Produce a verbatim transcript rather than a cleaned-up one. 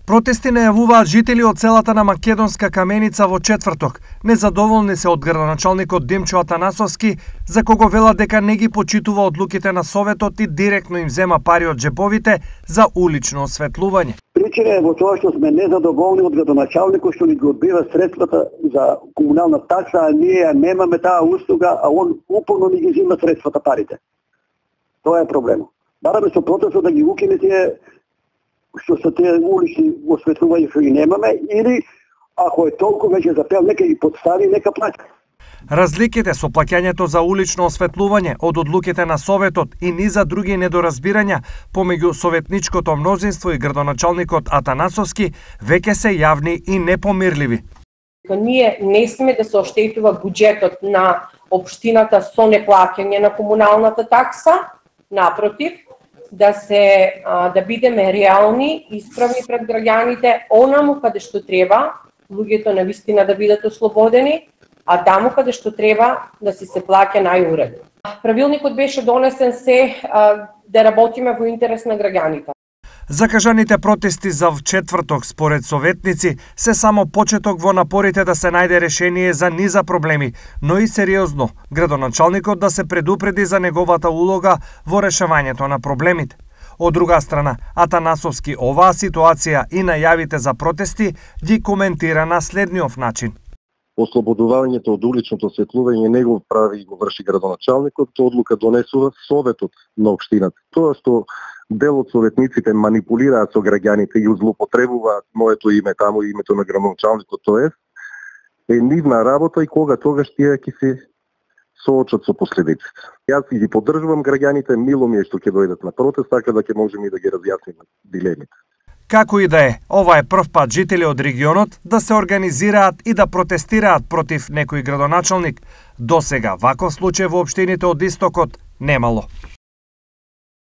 Протести најавуваат жители од селата на Македонска Каменица во четврток. Незадоволни се од градоначалникот Димчо Атанасовски, за кого велат дека не ги почитува одлуките на Советот и директно им зема пари од джеповите за улично осветлување. Причина е во тоа што сме незадоволни од градоначалникот што ни ги одбива средствата за комунална такса, а ние немаме таа услуга, а он упорно ни ги зема средствата, парите. Тоа е проблемот. Бараме со протестот да ги укине тие што се тие улични осветлувања што ги немаме, или ако е толку веќе запел, нека ги подстави, нека плаќа. Разликите со плаќањето за улично осветлување од одлуките на Советот и низа други недоразбирања помеѓу советничкото мнозинство и градоначалникот Атанасовски веќе се јавни и непомирливи. Ние не сме да се оштетува буџетот на општината со неплаќање на комуналната такса, напротив, да се да бидеме реални, исправни пред граѓаните, онаму каде што треба, луѓето навистина да бидат ослободени, а таму каде што треба да си се плаќа најуредно. Правилникот беше донесен се да работиме во интерес на граѓаните. Закажаните протести за четврток според советници се само почеток во напорите да се најде решение за низа проблеми, но и сериозно градоначалникот да се предупреди за неговата улога во решавањето на проблемите. Од друга страна, Атанасовски оваа ситуација и најавите за протести ги коментира на следниот начин. Ослободувањето од уличното осветлување не го прави и го врши градоначалникот, одлука донесува Советот на општината. Тоа што дел од советниците манипулираат со граѓаните и злоупотребуваат моето име таму и името на градоначалникот, тоа е нивна работа и кога тогаш тие ќе се соочат со последиците. Јас ги поддржувам граѓаните, мило ми е што ќе дојдат на протест, така да ќе можеме и да ги разјасниме дилемите. Како и да е, ова е прв пат жители од регионот да се организираат и да протестираат против некој градоначалник. Досега ваков случај во општините од Истокот немало.